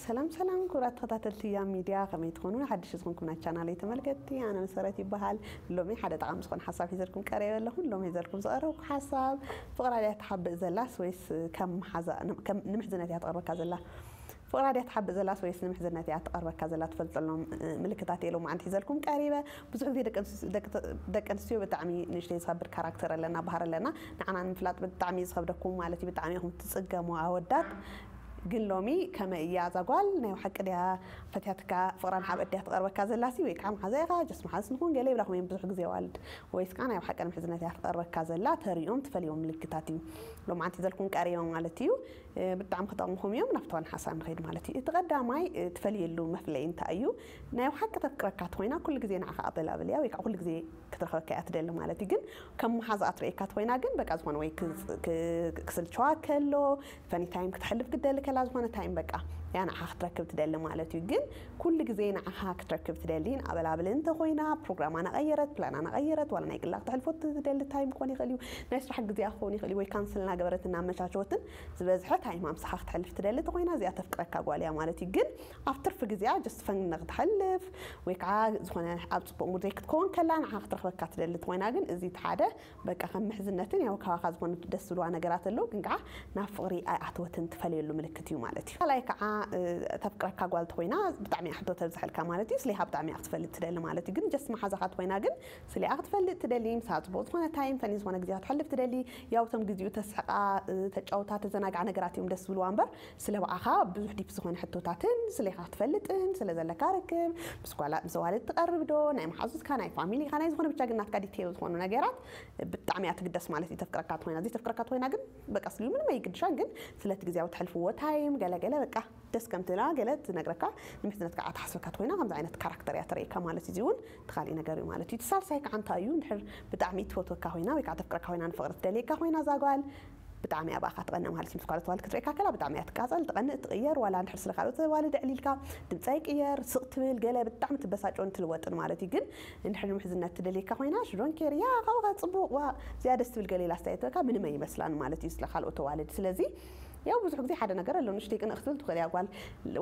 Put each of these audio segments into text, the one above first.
ሰላም ሰላም ክቡራት ተኸታተልቲ ያም ሚድያ፣ ከመይ ትኾኑ? ሓድሽ ዝኾንኩም ናይ ቻናለይ ተመልከትቲ፣ ኣነ መሰረት ይበሃል። ሎሚ ሓደ ጠቓሚ ዝኾነ ሓሳብ ሒዘልኩም ቀሪበ ኣለኹ። ሎሚ ሒዘልኩም ዝቐረብኩ ሓሳብ፣ ፍቕራ ድያ ትሓብእ ዘላስ ወይስ ከም መሓዛ፣ ከም ንምሕዝነት እያ ትቐርበካ ዘላ? ፍቕራ ድያ ትሓብእ ዘላስ ወይስ ንምሕዝነት እያ ትቐርበካ ዘላ? ትፈልጠሎም ምልክታት እየ ሎማዓንቲ ሒዘልኩም ቀሪበ። ብዙሕ ግዜ ደቂ ኣንስ- ደቂ ተ- ደቂ ኣንስትዮ ብጣዕሚ ንእሽተይ ዝኸብድ ካራክተር ኣለና፣ ባህሪ ኣለና። ንዓና ንምፍላጥ ብጣዕሚ ዝኸብደኩም ማለት እዩ። ብጣዕሚ ኢኹም ትጽገሙ ኣወዳት። ግን ሎሚ ከመይ እያ እዛ ጓል? ናይ ብሓቂ ድያ ፈትያትካ? ፍቕራ ንሓብእ ድያ ትቐርበካ ዘላሲ? ወይ ከዓ መሓዛ ኢኻ? ጀስ መሓዝስ ንኹን ገለ ይብላኹም እዮም ብዙሕ ግዜ ኣዋልድ። ወይስ ከዓ ናይ ብሓቂ ንምሕዝነት እያ ትቐርበካ ዘላ? ተሪኦም ትፈልዮም ምልክታት እዩ ሎማዓንቲ ሒዘልኩም ቀሪበ ማለት እዩ። ብጣዕሚ ክጠቕምኹም እዮም። ናብቲ ዋና ሓሳብ ንኸይድ ማለት እዩ። እቲ ቀዳማይ ትፈልየሉ መፍለይ እንታይ እዩ? ናይ ብሓቂ ተፍቅረካ ተኾይና ኩሉ ግዜ ንዓኻ ኣበላብል እያ፣ ወይ ከዓ ኩሉ ግዜ ክትረኸበካ እያ ትደሊ ማለት እዩ። ግን ከም መሓዛኣ ትርእየካ ተኾይና ግን በቃ ዝኾነ ወይ ክስልቸዋ ከሎ፣ ፈኒ ታይም ክትሕልፍ ክትደሊ ከላ፣ ዝኾነ ታይም በቃ እያ ንዓኻ ክትረክብ ትደሊ ማለት እዩ። ግን ኩሉ ግዜ ንዓኻ ክትረክብ ትደሊ ንኣበላብል እንተኾይና፣ ፕሮግራማ ናቐየረት፣ ፕላና ናቐየረት፣ ዋላ ናይ ግላ ክትሕልፎ ትደሊ ታይም ክኾን ይኽእል እዩ፣ ናይ ስራሕ ግዜኣ ክኸውን ይኽእል እዩ፣ ወይ ካንስል እናገበረትን እናመቻቸወትን ዝበዝሐ ታይማ ምሳኻ ክትሕልፍ ትደሊ ተኾይና፣ እዚኣ ተፍቅረካ ጓል እያ ማለት እዩ። ግን ኣብ ትርፊ ግዜኣ ጀስት ፈን ንክትሕልፍ ወይ ከዓ ዝኾነ ኣብ ፅቡቕ ሙድ ዘይክትከውን ከላ ንዓ ክትረኽበካ ትደሊ ተኾይና፣ ግን እዚ እቲ ሓደ በቃ ከም ምሕዝነትን ያው ካባኻ ዝኾነ ደስ ዝብልዋ ነገራት ኣለዉ፣ ግን ከዓ ናብ ፍቕሪ ኣይኣተወትን ትፈልየሉ ምልክት እዩ ማለት እዩ። ካልኣይ ከዓ ተፍቅረካ ጓል ተኾይና ብጣዕሚ እያ ሕቶ ተብዝሐልካ ማለት እዩ። ስሌኻ ብጣዕሚ እያ ክትፈልጥ ትደሊ ማለት እዩ። ግን ጀስት መሓዛኻ ተኾይና ግን ስሌኣ ክትፈልጥ ትደሊ፣ ምሳ ፅቡቕ ዝኾነ ታይም ፈኒ ዝኾነ ግዜ ክትሕልፍ ትደሊ። ያው እቶም ግዜኡ ተስሕቓ፣ ተጫውታ፣ ተዘናግዓ ነገራት እዮም ደስ ዝብልዋ እምበር ስለ ብኣኻ ብዙሕ ዲፕ ዝኾነ ሕቶታትን ስሌኻ ክትፈልጥን ስለ ዘለካ ርክብ ምስ ጓላ ምስ ኣዋልድ ትቐርብ ዶ ናይ መሓዙትካ ናይ ፋሚሊኻ ናይ ዝኾነ ብቻ ግን ናትካ ዲቴል ዝኾኑ ነገራት ብጣዕሚ እያ ትግደስ ማለት እዩ። ተፍቅረካ ትኾይና ዘይተፍቅረካ ትኾይና ግን በቃ ስልዩ ምንም ኣይግድሻን። ግን ስለቲ ግዜያዊ ትሕልፍዎ ታይም ገለገለ በቃ ደስ ከም ትላ ገለ ትነግረካ ንምሕዝነትካ ኣተሓስበካ ትኾይና ከምዚ ዓይነት ካራክተር እያ ተርእየካ ማለት እዩ። እዚ እውን እቲ ካሊእ ነገር እዩ ማለት እዩ። እቲ ሳልሳይ ከዓ እንታይ እዩ? እንድሕር ብጣዕሚ ትፈትወካ ኮይና ወይ ከዓ ተፍቅረካ ኮይና ንፍቕሪ ትደልየካ ኮይና እዛ ጓል ብጣዕሚ እያ ብኣኻ ትቐንእ ማለት እዩ። ምስ ካልኦት ኣዋልድ ክትርእየካ ከላ ብጣዕሚ እያ ትቃፀል፣ ትቐንእ፣ ትቕየር። ዋላ እንድሕር ስለ ካልኦት ኣዋልድ ኣዕሊልካ ድምፃ ይቅየር፣ ስቕ ትብል፣ ገለ ብጣዕሚ ትበሳጨን ትልወጥን ማለት እዩ። ግን እንድሕር ንምሕዝነት ትደልየካ ኮይና ሽዶን ኬር እያ ካብኡ ከ ፅቡቕ ዋ እዚኣ ደስ ትብል ገለ ኢላ ኣስተያየት ትበካ ምንም ኣይመስላን ማለት እዩ ስለ ካልኦት ኣዋልድ። ስለዚ ያው ብዙሕ ግዜ ሓደ ነገር ኣሎ ንእሽተይ ቅንእ ክትብል ትኽእል እያ ጓል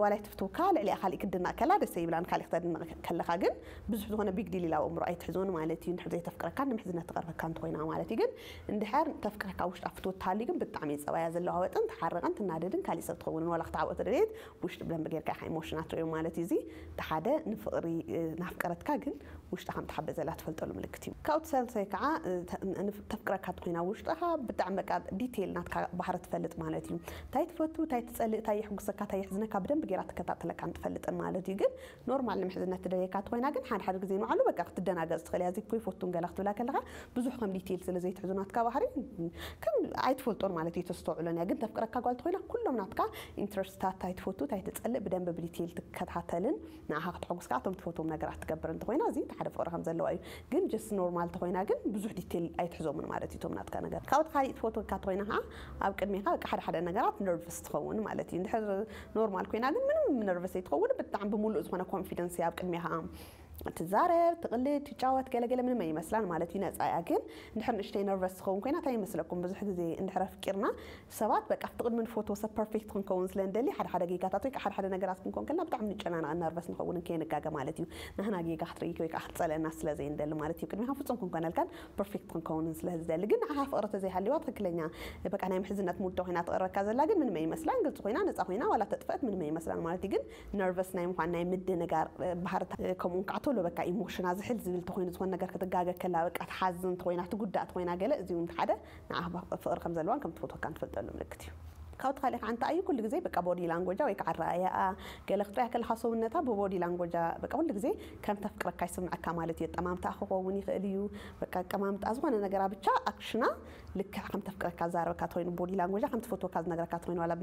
ዋላ ኣይትፍትውካ ልዕሊኣ ካሊእ ክትድነቕ ከላ ደስ ይብላን ካሊእ ክተድንቕ ከለኻ ግን ብዙሕ ዝኾነ ቢግ ዲል ኢላ ኣብ ኣእምሮ ኣይትሕዞን ማለት እዩ። እንድሕር ዘይተፍቅረካ ንምሕዝነት ትቐርበካ እንተኾይና ማለት እዩ። ግን እንድሕር ተፍቅረካ ውሽጣ ፍትወት ትሃልዩ ግን ብጣዕሚ እዩ ጸባያ ዘለዋወጥን ትሓርቕን ትናደድን ካሊእ ሰብ ትኸውንን ዋላ ክትዓብኦ ተደለየት ውሽጢ ብደንብ ጌርካ ኢኻ ኢሞሽና ትርእዮ ማለት እዩ። እዚ እቲ ሓደ ንፍቕሪ ናፍቀረትካ ግን ውሽጣ ከም ትሓበ ዘላ ትፈልጠሉ ምልክት እዩ። ካብኡ ሳልሳይ ከዓ ተፍቅረካ ተኮይና ውሽጥኻ ብጣዕሚ በቃ ዲቴይል ናትካ ባህሪ ትፈልጥ ማለት እዩ። እንታይ ትፈቱ እንታይ ትፀልእ እንታይ የሕጉሰካ እንታይ የሕዝነካ ብደንብ ጌራ ትከታተለካን ትፈልጥን ማለት እዩ። ግን ኖርማል ንምሕዝነት ትደልየካ ተኮይና ግን ሓደ ሓደ ግዜ ንባዕሉ በቃ ክትደናገፅ ትኽእል እያ። እዚ እኮ ይፈቱን ገላ ክትብላ ከለካ ብዙሕ ከም ዲቴይል ስለ ዘይትሕዞ ናትካ ባህሪ ከም ኣይትፈልጦን ማለት እዩ ተስተውዕሎን እያ። ግን ተፍቅረካ ጓል ተኮይና ኩሎም ናትካ ኢንትረስትታት እንታይ ትፈቱ እንታይ ትፀልእ ብደንብ ብዲቴይል ትከታተልን ንዓኻ ክተሐጉስካ እቶም ትፈትዎም ነገራት ትገብር እንተኾይና እዚ እቲ ሓደ ፍቕሪ ከም ዘለዋ እዩ። ግን ጀስት ኖርማል ተኾይና ግን ብዙሕ ዲቴል ኣይትሕዞምን ማለት እዩ እቶም ናትካ ነገር። ካብኡ ካሊእ ትፈትወካ ተኾይና ከዓ ኣብ ቅድሜኻ በቃ ሓደ ሓደ ነገራት ነርቨስ ትኸውን ማለት እዩ። እንድሕር ኖርማል ኮይና ግን ምንም ነርቨስ ኣይትኸውን ብጣዕሚ ብምሉእ ዝኾነ ኮንፊደንስ እያ ኣብ ቅድሜኻ ትዛረብ ትቕልድ ትጫወት ገለገለ ምንም ኣይመስላን ማለት እዩ። ነፃ እያ ግን እንድሕር ንእሽተይ ነርቨስ ትኸውን ኮይና እንታይ ይመስለኩም ብዙሕ ግዜ እንድሕር ኣፍቂርና ሰባት በቃ ኣብቲ ቅድሚ ንፈትዎ ሰብ ፐርፌክት ክንከውን ስለ ንደሊ ሓደ ሓደ ጌጋታት ወይ ከዓ ሓደ ሓደ ነገራት ክንከውን ከለና ብጣዕሚ ንጨናነቕ ነርቨስ ንኸውን ከየንጋገ ማለት እዩ። ናህና ጌጋ ክትርኢ ወይ ከዓ ክትፀለና ስለ ዘይንደሊ ማለት እዩ። ቅድሚኻ ፍፁም ክንኮነልካን ፐርፌክት ክንከውንን ስለ ዝደሊ ግን ንዓኻ ፍቕሪ ተዘይሃልዋ ትኽክለኛ በቃ ናይ ምሕዝነት ሙድ ኮይና ትቐርበካ ዘላ ግን ምንም ኣይመስላን ግልፂ ኮይና ነፃ ኮይና ዋላ ተጥፈአት ምንም ኣይመስላን ማለት እዩ። ግን ነርቨስ ናይ ምዃን ናይ ምድንጋር ባህርታት ከምኡውን ከዓ ቶሎ በቃ ኢሞሽና ዝሕል ዝብል ተኮይኑ ዝኾነ ነገር ክትጋገ ከላ በቃ ትሓዝን ተኮይና ትጉዳእ ተኮይና ገለ እዚ እውን ሓደ ንዓ ፍቕሪ ከም ዘለዋን ከም ትፈትወካን ትፈልጠሉ ምልክት እዩ። ካብቲ ካሊእ ከዓ እንታይ እዩ ኩሉ ግዜ በቃ ቦዲ ላንጎጃ ወይ ከዓ ኣረኣያኣ ገለ ክትሪያ ከለካ ሰውነታ ብቦዲ ላንጎጃ በቃ ኩሉ ግዜ ከም ተፍቅረካ ይስምዐካ ማለት እዩ። ኣጠማምታ ክኸውን ይኽእል እዩ በቃ ኣቀማምጣ ዝኾነ ነገራ ብቻ ኣክሽና ልክዕ ከም ተፍቅረካ ዛረበካ ተኮይኑ ቦዲ ላንጎጃ ከም ትፈትወካ ዝነግረካ ተኮይኑ ዋላ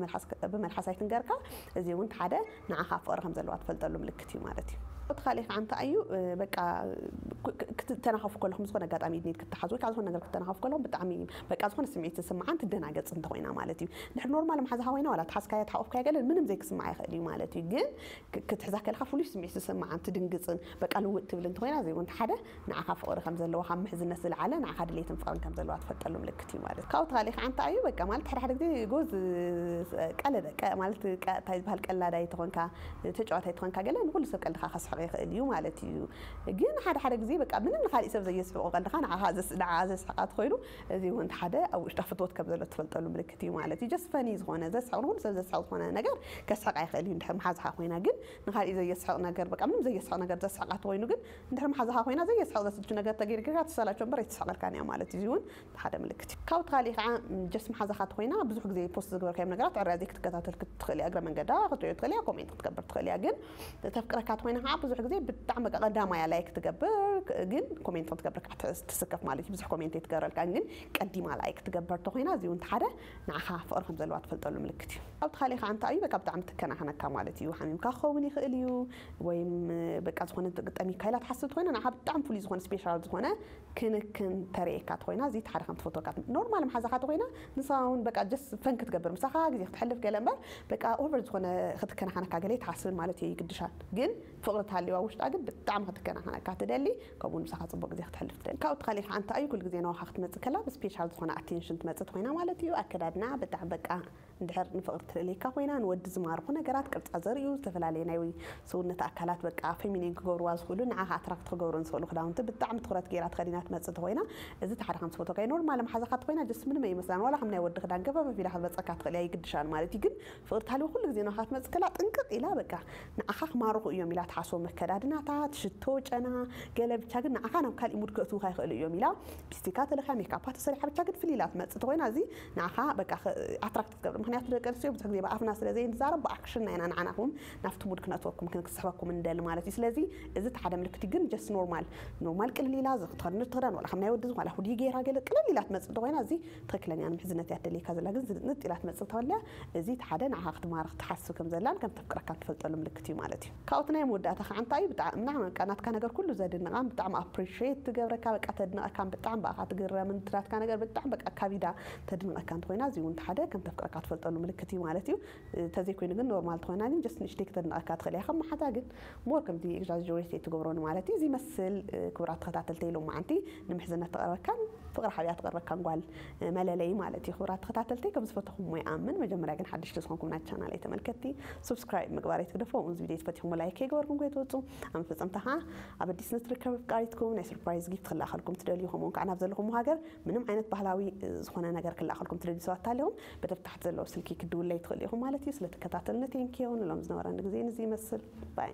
ብመልሓስ ኣይትንገርካ እዚ እውን ሓደ ንዓኻ ፍቕሪ ከም ዘለዋ ትፈልጠሉ ምልክት እዩ ማለት እዩ። እቲ ካልእ ከዓ እንታይ እዩ? በቃ ክትተናኸፉ ከለኹም፣ ዝኾነ ኣጋጣሚ ኢድኒት ክትሓዝ ወይ ከዓ ዝኾነ ነገር ክትተናኸፉ ከለኹም ብጣዕሚ በቃ ዝኾነ ስምዒት ዝስምዓን ትደናገፅ እንተኾይና ማለት እዩ። ድሕር ኖርማል መሓዛኻ ኮይና ዋላ ተሓዝካያ ተሓቆፍካያ ገለ ምንም ዘይክስምዓ ይኽእል እዩ ማለት እዩ። ግን ክትሕዛ ከለካ ፍሉይ ስምዒት ዝስምዓን ትድንግፅን በቃ ልውጥ ትብል እንተኾይና፣ እዚ እውን ሓደ ንዓኻ ፍቕሪ ከም ዘለዋ፣ ካብ ምሕዝነት ዝለዓለ ንዓኻ ድሌትን ፍቕርን ከም ዘለዋ ትፈልጠሉ ምልክት እዩ ማለት እዩ። ካብኡ ተኻሊ ከዓ እንታይ እዩ? በቃ ማለት ሓደ ሓደ ግዜ ጎዝ ቀለደ ማለት እንታይ ዝበሃል ቀላዳይ ተኾንካ፣ ተጫዋታይ ተኾንካ ገለ ንኩሉ ሰብ ቀልድኻ ከስሕቕ ይኽእል እዩ ማለት እዩ። ግን ሓደ ሓደ ግዜ በቃ ምንም ንኻሊእ ሰብ ዘየስሕቑ ቀልድኻ ንዓኻ ዘስሕቓ ተኾይኑ፣ እዚ እውን ሓደ ኣብ ውሽጣ ፍትወት ከም ዘሎ ትፈልጠሉ ምልክት እዩ ማለት እዩ። ጀስት ፈኒ ዝኾነ ዘስሕቕ ንኩሉ ሰብ ዘስሕቕ ዝኾነ ነገር ከስሕቕ ኣይኽእል እዩ። እንድሕር መሓዝኻ ኮይና ግን ንኻሊእ ዘየስሕቕ ነገር በቃ ምንም ዘየስሕቕ ነገር ዘስሕቓ ተኾይኑ ግን እንድሕር መሓዝኻ ኮይና ዘየስሕቕ ዘስልቹ ነገር ተገይርካ ትሰላቸው እምበር ኣይትስሕቐልካን እያ ማለት እዩ። እዚ እውን ሓደ ምልክት እዩ። ካብኡ ተኻሊ ከዓ ጀስት መሓዛኻ ተኾይና ብዙሕ ግዜ ፖስት ዝገበርካዮም ነገራት ዕርያ ዘይክትከታተል ክትኽእል እያ። እግረ መንገዳ ክትሪኦ ትኽእል እያ፣ ኮሜንት ክትገብር ትኽእል እያ። ግን ተፍቅረካ ተኾይና ከዓ ብዙሕ ግዜ ብጣዕሚ በቃ ቀዳማያ ላይክ ትገብር፣ ግን ኮሜንት ክትገብር ከዓ ትስከፍ ማለት እዩ። ብዙሕ ኮሜንት ኣይትገብረልካን ግን ቀዲማ ላይክ ትገብር ተኾይና እዚ እውን ሓደ ንዓኻ ፍቕሪ ከም ዘለዋ ትፈልጠሉ ምልክት እዩ። ካብኡ ተኻሊ ከዓ እንታይ እዩ? በቃ ብጣዕሚ ትከናኸነካ ማለት እዩ። ሓሚምካ ክኸውን ይኽእል እዩ፣ ወይም በቃ ዝኾነ ጠሚካ ኢላ ትሓስብ ተኾይና ንዓኻ ብጣዕሚ ፍሉይ ዝኾነ ስፔሻል ዝኾነ ክንክን ተርእየካ ተኾይና እዚ ሓደ ከም ትፈትወካ ኖርማል መሓዛኻ ተኾይና ንሳ እውን በቃ ጀስት ፈን ክትገብር ምሳኻ ግዜ ክትሕልፍ ገለ እምበር በቃ ኦቨር ዝኾነ ክትከናኸነካ ገለ ትሓስብን ማለት እዩ። ይግድሻል ግን ፍቕሪ ተሃልዋ ውሽጣ ግን ብጣዕሚ ክትከናኸነካ ትደሊ፣ ከምኡ ምሳኻ ፅቡቅ ግዜ ክትሕልፍ ትደሊ። ካብኡ ተኻሊ ከዓ እንታይ እዩ? ኩሉ ግዜ ናባኻ ክትመፅእ ከላ ብስፔሻል ዝኾነ ኣቴንሽን ትመፅእ ተኾይና ማለት እዩ። ኣከዳድና ብጣዕሚ በቃ እንድሕር ንፍቕሪ ትልእለካ ኮይና ንወዲ ዝማርኹ ነገራት ቅርፃ ዘርእዩ ዝተፈላለዩ ናይ ሰውነት ኣካላት በቃ ፌሚኒን ክገብርዋ ዝኽእሉ ንዓኻ ኣትራክት ክገብሩ ዝኽእሉ ክዳውንቲ ብጣዕሚ ትኹረት ገይራ ተኸዲና ትመፅእ ተኾይና እዚ እቲ ሓደ ከም ትፈትወካ እዩ። ኖርማል መሓዛኻ ተኾይና ጀስት ምንም ኣይመስላን ዋላ ከም ናይ ወዲ ክዳን ገፈፈፍ ኢላ ክትመፀካ ትኽእል እያ ይግድሻን ማለት እዩ። ግን ፍቕሪ ተሃልዎ ኩሉ ግዜ ናባኻ ክትመፅእ ከላ ጥንቅቕ ኢላ በቃ ንዓኻ ክማርኹ እዮም ኢላ ትሓስቦም ኣከዳድናታት ሽቶ ጨና ገለ ብቻ ግን ንዓኻ ናብ ካሊእ ሙድ ከእትዉኻ ይኽእሉ እዮም ኢላ ሊፕስቲካ ተለኺያ ሜካፓ ተሰሪሓ ብቻ ግን ፍልይ ኢላ ትመፅእ ተኾይና እዚ ንዓኻ በቃ ኣትራክት ክትገብር። ምክንያቱ ደቂ ኣንስትዮ ብዙሕ ግዜ ብኣፍና ስለ ዘይንዛረብ ብኣክሽንና ኢና ንዓናኹም ናብቲ ሙድ ክነእትወኩም ክንክስሕበኩም እንደሊ ማለት እዩ። ስለዚ እዚ እቲ ሓደ ምልክት እዩ። ግን ጀስት ኖርማል ኖርማል ቅልል ኢላ እዚ ክትኸድኒ ትኽዳን ዋላ ከም ናይ ወዲ ዝኾነ ሁዲ ገይራ ገለ ቅልል ኢላ ትመፅእ ተኾይና እዚ ትኽክለኛ ንምሕዝነት እያ ትደልየካ ዘላ። ግን ዝንጥ ኢላ ትመፅእ ተወልያ እዚ እቲ ሓደ ንዓኻ ክትማርኽ ትሓስብ ከም ዘላን ከም ተፍቅረካ ትፈልጠሉ ምልክት እዩ ማለት እዩ። ካብኡ እቲ ናይ መወዳእታ ከዓ እንታይ እዩ? ብጣዕሚ ናትካ ነገር ኩሉ ዘድንቓን ብጣዕሚ ኣፕሪሽት ትገብረካ በቃ ተድንቐካን ብጣዕሚ ብኣኻ ትግረምን እቲ ናትካ ነገር ብጣዕሚ በቃ ካቢዳ ተድንቐካ እንተኾይና እዚ እውን ሓደ ከም ተፍቅረካ ትፈልጠሉ ምልክት እዩ ማለት እዩ። እንተዘይኮይኑ ግን ኖርማል ተኾይና ግን ጀስት ንእሽተይ ክተድንቐካ ትኽእል እያ ከም መሓዛ ግን ሞር ከምዚ ኤግዛጀሬት ትገብሮን ማለት እዩ። እዚ ይመስል ክቡራት ተኸታተልተይ ሎማዓንቲ ንምሕዝነት ትቐርበካን ፍቕሪ ሓብያ ትቐርበካን ጓል መለለይ ማለት እዩ። ክቡራት ተኸታተልተይ ከም ዝፈተኹም ይኣምን። መጀመርያ ግን ሓድሽ ዝኾንኩም ናይ ቻናል ተመልከትቲ ሱብስክራይብ ምግባር ኣይትግደፉ። ከምኡ እዚ ቪድዮ ዝፈቲኹም ላይክ ከይገበርኩም ከይትወፁ ኣብ መፈፀምታ ከዓ ኣብ ኣዲስ ንትርከብ ኣፍቃሪትኩም ናይ ሰርፕራይዝ ጊፍት ክላኸልኩም ትደልዩ ከምኡውን ከዓ ናብ ዘለኹም ሃገር ምንም ዓይነት ባህላዊ ዝኾነ ነገር ክላኸልኩም ትደልዩ ሰባት ኣለኹም በተብታሕት ዘለዎ ስልኪ ክድውለይ ትኽእሉ ኢኹም ማለት እዩ። ስለተከታተልኒ ቴንኪዩ። ንሎም ዝነበረኒ ግዜ ንዚ ይመስል ባይ